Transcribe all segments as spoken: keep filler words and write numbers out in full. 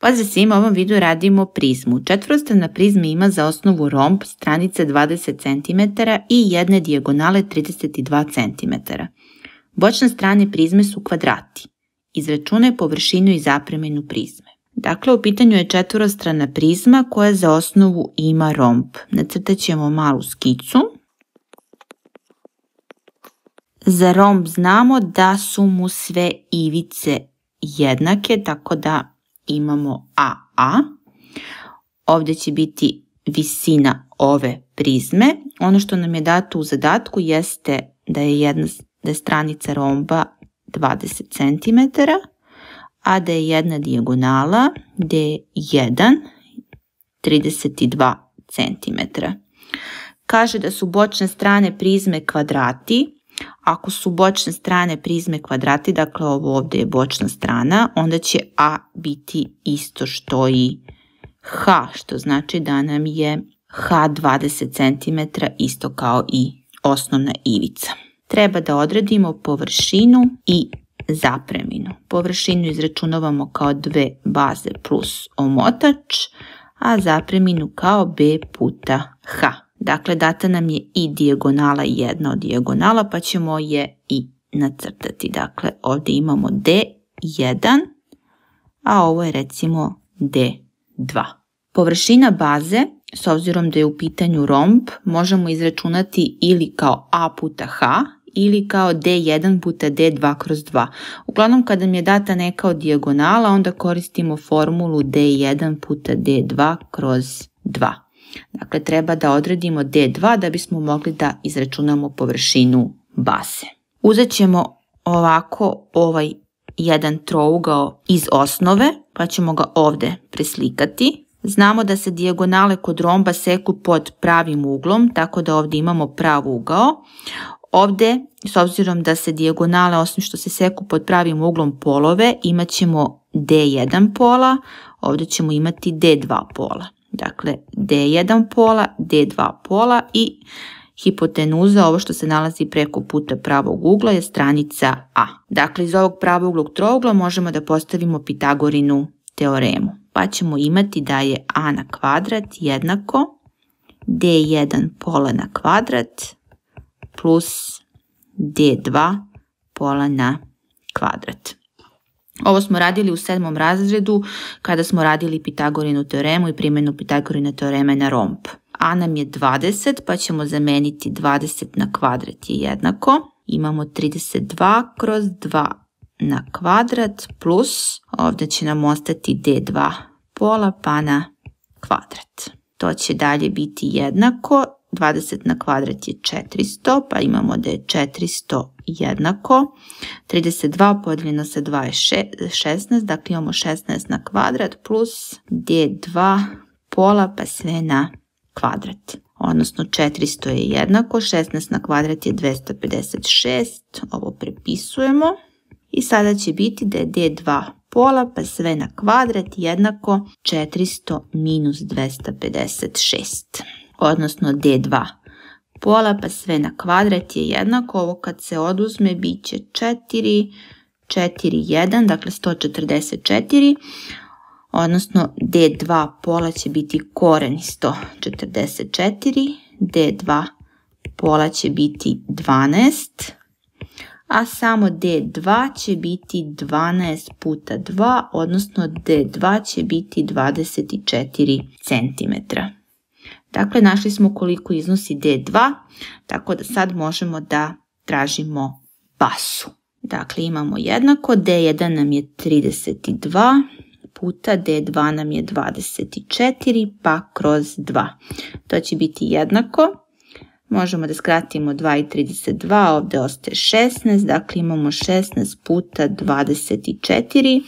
Pozdrav svima, u ovom videu radimo prizmu. Četvorostrana prizma ima za osnovu romb stranice dvadeset centimetara i jedne dijagonale trideset dva centimetra. Bočne strane prizme su kvadrati. Izračunaj površinu i zapreminu prizme. Dakle, u pitanju je četvorostrana prizma koja za osnovu ima romb. Nacrtat ćemo malu skicu. Za romb znamo da su mu sve ivice jednake, tako da imamo A A. Ovdje će biti visina ove prizme. Ono što nam je dato u zadatku jeste da je, jedna, da je stranica romba dvadeset centimetara, a da je jedna dijagonala D jedan trideset dva centimetra. Kaže da su bočne strane prizme kvadrati. Ako su bočne strane prizme kvadrati, dakle ovo ovdje je bočna strana, onda će A biti isto što i H, što znači da nam je H dvadeset centimetara isto kao i osnovna ivica. Treba da odredimo površinu i zapreminu. Površinu izračunavamo kao dve baze plus omotač, a zapreminu kao B puta H. Dakle, data nam je i dijagonala jedna od dijagonala, pa ćemo je i nacrtati. Dakle, ovdje imamo D jedan, a ovo je recimo D dva. Površina baze, s obzirom da je u pitanju romb, možemo izračunati ili kao A puta H, ili kao D jedan puta D dva kroz dva. Uglavnom, kada mi je data neka od dijagonala, onda koristimo formulu D jedan puta D dva kroz dva. Dakle, treba da odredimo D dva da bismo mogli da izračunamo površinu baze. Uzet ćemo ovako ovaj jedan trougao iz osnove, pa ćemo ga ovdje preslikati. Znamo da se dijagonale kod romba seku pod pravim uglom, tako da ovdje imamo prav ugao. Ovdje, s obzirom da se dijagonale, osim što se seku pod pravim uglom polove, imat ćemo D jedan pola, ovdje ćemo imati D dva pola. Dakle, D jedan pola, D dva pola i hipotenuza, ovo što se nalazi preko puta pravog ugla, je stranica A. Dakle, iz ovog pravouglog trougla možemo da postavimo Pitagorinu teoremu. Pa ćemo imati da je A na kvadrat jednako D jedan pola na kvadrat plus D dva pola na kvadrat. Ovo smo radili u sedmom razredu kada smo radili Pitagorinu teoremu i primjenu Pitagorine teoreme na romb. A nam je dvadeset, pa ćemo zameniti dvadeset na kvadrat je jednako. Imamo trideset dva kroz dva na kvadrat plus, ovdje će nam ostati D dva pola pa na kvadrat. To će dalje biti jednako, dvadeset na kvadrat je četiristo, pa imamo da je četiristo jednako. trideset dva podijeljeno sa dva je šesnaest, dakle imamo šesnaest na kvadrat plus D dva pola pa sve na kvadrat. Odnosno četiristo je jednako, šesnaest na kvadrat je dvjesto pedeset šest, ovo prepisujemo. I sada će biti da je D dva pola pa sve na kvadrat jednako četiristo minus dvjesto pedeset šest. Odnosno D dva pola pa sve na kvadrat je jednako, ovo kad se oduzme bit će četiri, četiri, jedan, dakle sto četrdeset četiri, odnosno D dva pola će biti koren sto četrdeset četiri, D dva pola će biti dvanaest, a samo D dva će biti dvanaest puta dva, odnosno D dva će biti dvadeset četiri centimetra. Dakle, našli smo koliko iznosi D dva, tako da sad možemo da tražimo bazu. Dakle, imamo jednako, D jedan nam je trideset dva puta D dva nam je dvadeset četiri pa kroz dva. To će biti jednako. Možemo da skratimo dva i trideset dva, ovdje ostaje šesnaest, dakle imamo šesnaest puta dvadeset četiri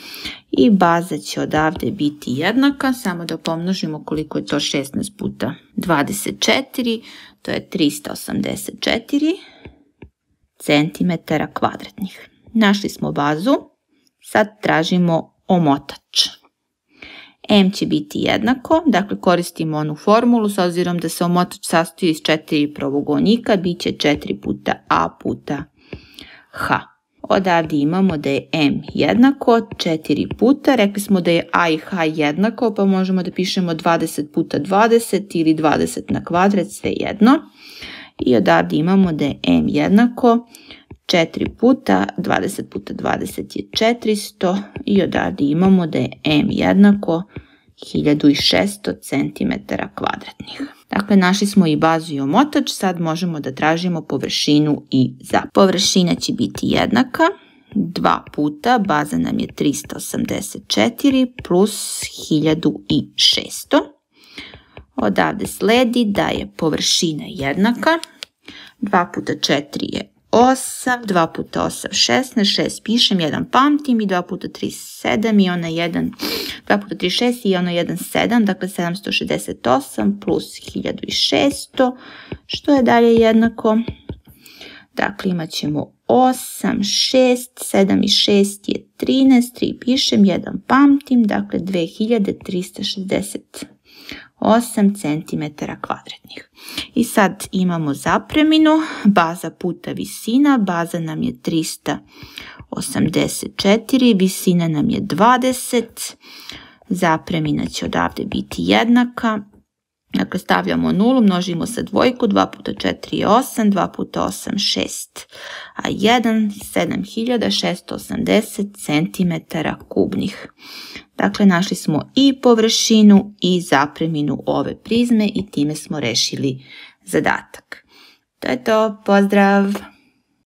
i baza će odavde biti jednaka, samo da pomnožimo koliko je to šesnaest puta dvadeset četiri, to je trista osamdeset četiri centimetara kvadratnih. Našli smo bazu, sad tražimo omotač. M će biti jednako, dakle koristimo onu formulu, s obzirom da se omotač sastoji iz četiri pravougolnika, bit će četiri puta A puta H. Odavde imamo da je m jednako četiri puta, rekli smo da je a i h jednako, pa možemo da pišemo dvadeset puta dvadeset ili dvadeset na kvadrat, sve jedno. I odavde imamo da je m jednako četiri puta, dvadeset puta dvadeset je četiristo i odavde imamo da je m jednako hiljadu šessto centimetara kvadratnih. Dakle, našli smo i bazu i omotač, sad možemo da tražimo površinu i zapretnu. Površina će biti jednaka, dva puta, baza nam je trista osamdeset četiri plus hiljadu šessto. Odavde sledi da je površina jednaka, dva puta četiri je osam, dva puta osam šesnaest, šest pišem, jedan pamtim i dva puta tri sedam i ona jedan, dva puta tri šest i ona jedan sedam, dakle sedamsto šezdeset osam plus hiljadu šessto, što je dalje jednako. Dakle, imat ćemo osam, šest, sedam i šest je trinaest, tri pišem, jedan pamtim, dakle dve hiljade trista šezdeset osam centimetara kvadratnih. I sad imamo zapreminu, baza puta visina, baza nam je trista osamdeset četiri, visina nam je dvadeset, zapremina će odavde biti jednaka. Dakle, stavljamo nulu, množimo sa dvojku, dva puta četiri je osam, dva puta osam šest, a jedan sedam hiljada šesto osamdeset centimetara kubnih. Dakle, našli smo i površinu i zapreminu ove prizme i time smo rešili zadatak. To je to, pozdrav!